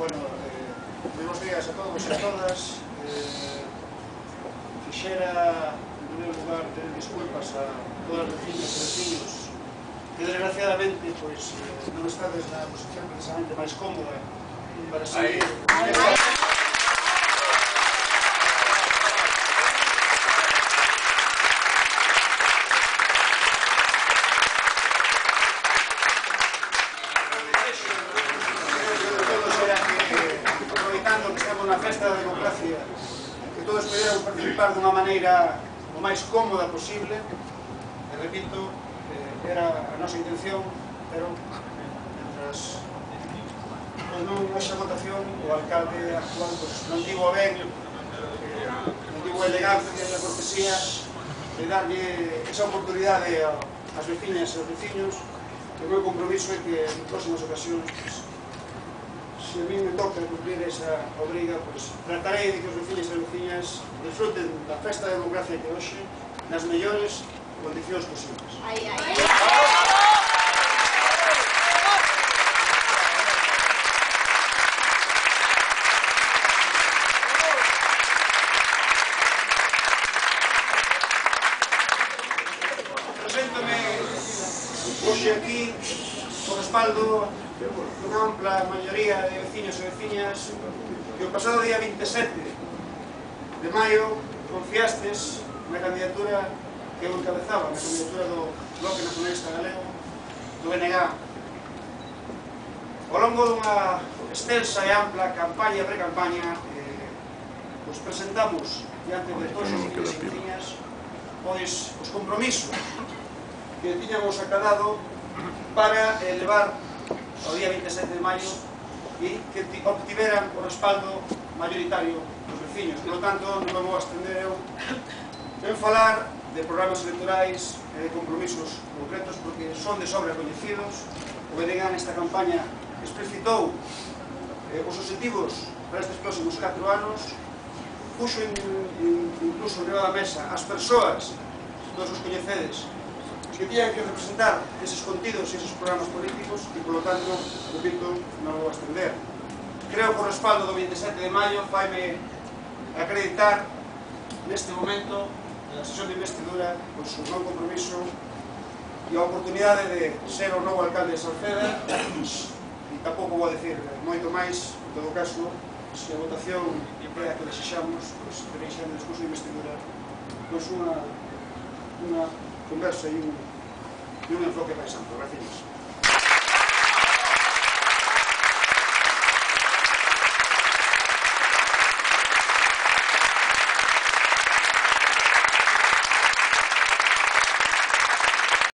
Bueno, buenos días a todos e a todas. Quixera, en primeiro lugar, pedir disculpas a todas as vecinas e vecinos que, desgraciadamente, non estades na posición precisamente máis cómoda para seguir. Aproveitando que estamos na festa da democracia, que todos pudiéramos participar dunha maneira o máis cómoda posible, e repito, era a nosa intención, pero mentras non haxa votación, o alcalde actual non tivo a ben, non tivo a elegancia e a cortesía de darlle esa oportunidade ás veciñas e aos veciños. O meu compromiso é que en próximas ocasións, se a mí me toca cumplir esa obriga, tratarei de que os veciños e as veciñas disfruten da festa da democracia que hoxe nas mellores condicións posibles. Preséntome hoxe aquí o respaldo dunha ampla maioría de veciños e veciñas que o pasado día 27 de maio confiastes na candidatura que eu encabezaba, na candidatura do Bloque Nacionalista Galego, do BNG. Ao longo dunha extensa e ampla campaña e pre-campaña, presentamos diante de todos os veciños e veciñas os compromisos que tiñamos acadado para elevar ao día 27 de maio e que obtiveran o respaldo mayoritario dos veciños. Por lo tanto, non me vou abstender eu en falar de programas electorais e de compromisos concretos porque son de sobra coñecidos. O BNG nesta campaña explicitou os objetivos para estes próximos 4 anos, puxo incluso riba da mesa as persoas, todos os coñecedes, que tiñan que representar eses contidos e eses programas políticos e, polo tanto, repito, non vou abstender. Creo que o respaldo do 27 de maio faime acreditar neste momento da sesión de investidura o meu compromiso e a oportunidade de ser o novo alcalde de Salceda e tampouco vou dicir moito máis. En todo caso, se a votación é a que desexamos, tenéis xa no discurso de investidura unha conversa e un enfoque máis amplo. Gracias.